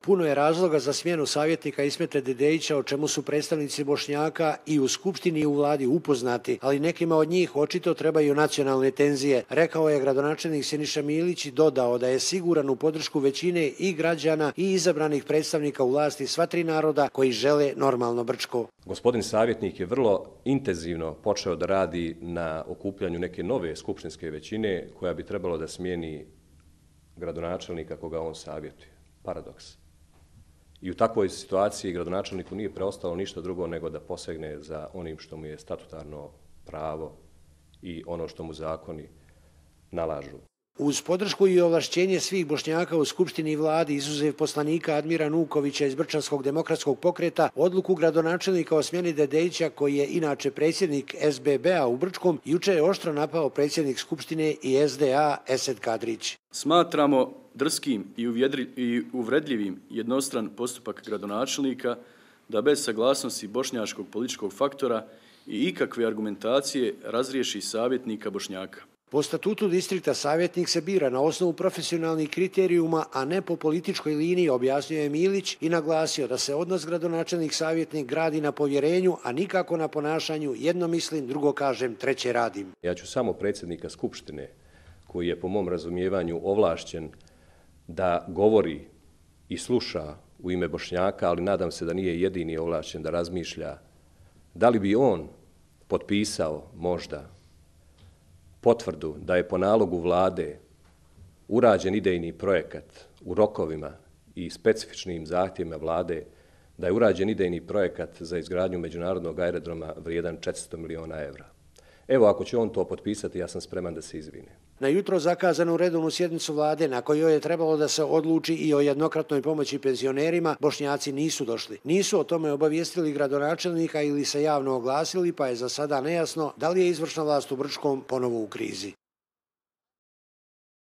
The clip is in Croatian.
Puno je razloga za smjenu savjetnika Ismeta Dedejića, o čemu su predstavnici Bošnjaka i u Skupštini i u vladi upoznati, ali nekima od njih očito trebaju nacionalne tenzije, rekao je gradonačelnik Siniša Milić i dodao da je siguran u podršku većine i građana i izabranih predstavnika u vlasti sva tri naroda koji žele normalno Brčko. Gospodin savjetnik je vrlo intenzivno počeo da radi na okupljanju neke nove skupštinske većine koja bi trebalo da smijeni gradonačelnika koga on savjetuje. Paradoks. I u takvoj situaciji gradonačelniku nije preostalo ništa drugo nego da posegne za onim što mu je statutarno pravo i ono što mu zakoni nalažu. Uz podršku i ovlašćenje svih Bošnjaka u Skupštini i vladi, izuzev poslanika Admira Nukovića iz Brčanskog demokratskog pokreta, odluku gradonačelnika o smjeni Dedejića, koji je inače predsjednik SBB-a u Brčkom, juče je oštro napao predsjednik Skupštine i SDA Esed Kadrić. Smatramo drskim i uvredljivim jednostran postupak gradonačelnika da bez saglasnosti bošnjačkog političkog faktora i ikakve argumentacije razriješi savjetnika Bošnjaka. Po statutu distrikta savjetnik se bira na osnovu profesionalnih kriterijuma, a ne po političkoj liniji, objasnio je Milić i naglasio da se odnos gradonačelnik-savjetnik gradi na povjerenju, a nikako na ponašanju jedno mislim, drugo kažem, treće radim. Ja ću samo predsjednika Skupštine, koji je po mom razumijevanju ovlašćen da govori i sluša u ime Bošnjaka, ali nadam se da nije jedini ovlašćen da razmišlja, da li bi on potpisao možda potvrdu da je po nalogu vlade urađen idejni projekat u rokovima i specifičnim zahtjevima vlade, da je urađen idejni projekat za izgradnju međunarodnog aerodroma vrijedan 400 miliona evra. Evo, ako će on to potpisati, ja sam spreman da se izvine. Na jutro zakazanu redovnu sjednicu vlade, na kojoj je trebalo da se odluči i o jednokratnoj pomoći penzionerima, Bošnjaci nisu došli. Nisu o tome obavijestili gradonačelnika ili se javno oglasili, pa je za sada nejasno da li je izvršna vlast u Brčkom ponovo u krizi.